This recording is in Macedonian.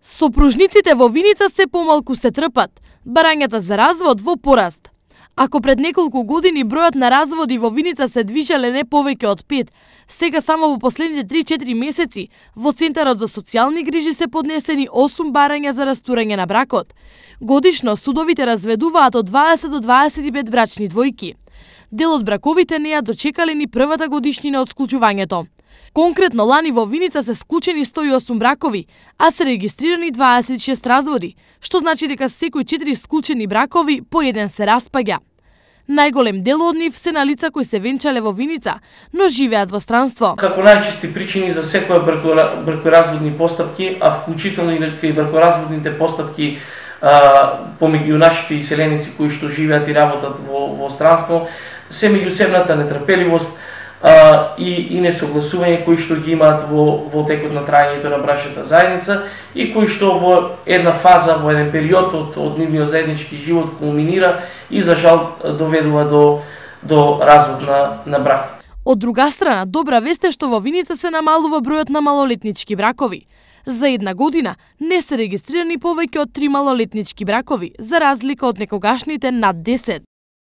Сопружниците во Виница се помалку се трпат, барањата за развод во пораст. Ако пред неколку години бројот на разводи во Виница се движеле не повеќе од 5, сега само во последните 3-4 месеци во Центарот за социјални грижи се поднесени 8 барања за растурање на бракот. Годишно судовите разведуваат од 20 до 25 брачни двојки. Дел од браковите не ја дочекале ни првата годишнина од склучувањето. Конкретно лани во Виница се склучени 108 бракови, а се регистрирани 26 разводи, што значи дека секој 4 склучени бракови по еден се распаѓа. Најголем дел од нив се на лица кои се венчале во Виница, но живеат во странство. Како најчести причини за секоја бракоразводни постапки, а вклучително и бракоразводните постапки помеѓу нашите иселеници кои што живеат и работат во странство, се меѓусебната нетрпеливост и несогласување кои што ги имаат во текот на трајањето на брачната заедница и кои што во една фаза, во еден период од нивниот заеднички живот кулминира и за жал доведува до развод на брак. Од друга страна, добра вест е што во Виница се намалува бројот на малолетнички бракови. За една година не се регистрирани повеќе од 3 малолетнички бракови, за разлика од некогашните над 10.